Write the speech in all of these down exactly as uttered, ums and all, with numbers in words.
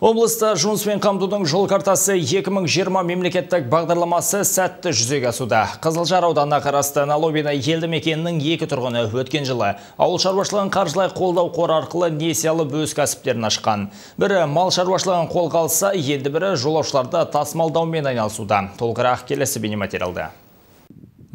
Облыста жұмыспен қамтудың жол картасы екі мың жиырма мемлекеттік бағдарламасы сәтті жүзеге асуда. Қызылжар ауданына қарасты Налобина елді мекенінің екі тұрғыны өткен жылы ауыл шаруашылығын қаржылай қолдау қоры арқылы несие алып өз кәсіптерін ашқан. Бірі мал шаруашылығын қолға алса, енді бірі жолаушыларды тасымалдаумен айналысуда. Толығырақ келесі бейнематериалда.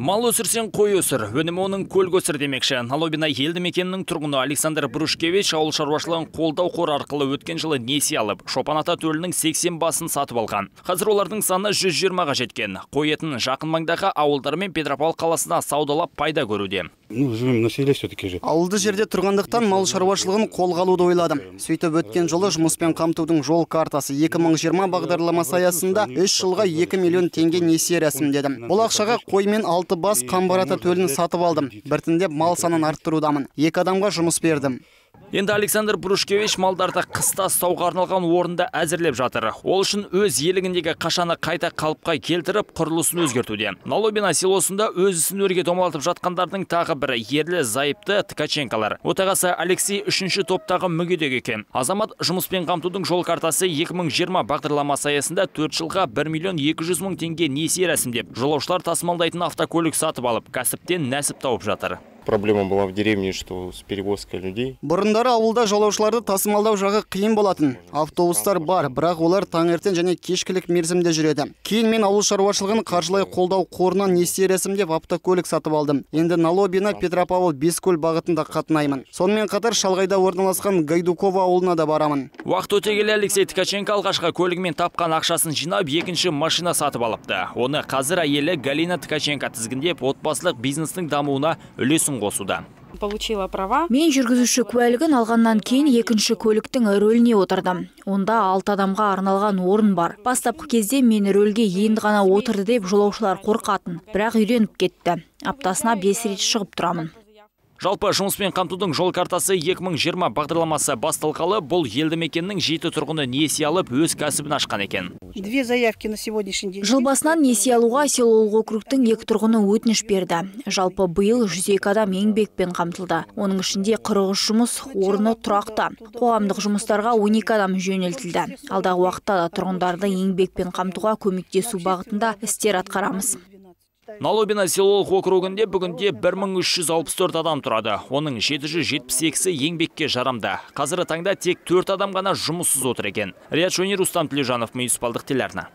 Мал өсірсең қой өсір, өнімі оның көлік өсір демекші. Налобина елді мекенінің тұрғыны Александр Брушкевич ауыл шаруашылығын қолдау қоры арқылы өткен жылы несие алып, Шопан ата төлінің сексен басын сатып алған. Қазір олардың саны жүз жиырмаға жеткен. Қой етін жақын маңдағы ауылдар мен Петропавл қаласына саудалап пайда көруде. Ну, живем на селе все-таки же. Ауылды жерде тұрғандықтан мал шаруашылығын қолға алуды ойладым. Сөйтіп өткен жылы жұмыспен қамтудың жол картасы екі мың жиырма бағдарламасы аясында үш жылға екі миллион теңге несие рәсімдедім. Бұл ақшаға қой мен алты бас қамбар ата төлін сатып алдым. Біртіндеп мал санын арттырудамын. Екі адамға жұмыс бердім. Енді Александр Брушкевич малдарды қыста ұстауға арналған орында әзірлеп жатыр. Ол үшін өз елігіндегі қашаны қайта қалыпқа келтіріп, құрылысын өзгертуде. Налобина селосында өз ісін өрге домалатып жатқандардың тағы бірі ерлі зайыпты Ткаченкалар. Отағасы Алексей үшінші топтағы мүгедек екен. Азамат жұмыспен қамтудың жол картасы екі мың жиырма бағдарламасы аясында төрт жылға бір миллион екі жүз мың теңге несие рәсімдеп, жолаушылар тасымалдайтын автокөлік сатып алып, кәсіптен нәсіп тауып жатыр. Проблема была в деревне, что с перевозкой людей. Бұрындары ауылда жолаушыларды тасымалдау жағы қиын болатын. Автобустар бар, бірақ олар таңертең және кешкілік мерзімде жүреді. Кейін мен ауыл шаруашылығын қаржылай қолдау қорынан несие рәсімдеп автокөлік сатып алдым. Енді Налобина, Петропавл, Бескөл бағытында қатынаймын. Сонымен қатар шалғайда орналасқан Гайдукова ауылына да барамын. Уақыт өте келе Алексей Ткаченко алғашқы көлігімен тапқан ақшасын жинап, екінші машина сатып алыпты. Оны қазір әйелі Галина Ткаченко тізгіндеп, отбасылық бизнестің дамуына үлесін қосуда. Получила права. Мен жүргізуші куәлігін алғаннан кейін екінші көліктің рөліне отырдым. Онда алты адамға арналған орын бар. Бастапқы кезде мен рөлге енді ғана отырды деп жолаушылар қорқатын. Бірақ үйреніп кетті. Аптасына бес рет шығып тұрамын. Жалпы жұмыспен қамтудың жол картасы екі мың жиырма бағдарламасы басталғалы, бұл елді мекеннің жеті тұрғыны несие алып өз кәсібін ашқан екен. Две заявки на сегодняшний день. Жыл басынан несие алуға селолық округтің екі тұрғыны өтініш берді. Жалпы биыл жүз екі адам еңбекпен қамтылды. Оның ішінде қырық үш жұмыс орны тұрақты. Қоғамдық жұмыстарға он екі адам жөнелтілді. Алдағы уақытта да тұрғындарды еңбекпен қамтуға көмектесу бағытында істер атқарамыз. Налобина селолық округінде бүгінде бір мың үш жүз алпыс төрт адам тұрады. Оның жеті жүз жетпіс екісі еңбекке жарамды. Қазіргі таңда тек төрт адам ғана жұмыссыз отыр екен. Риат Шойни, Рустам Тілеужанов, Мүйіс Балдық телеарна.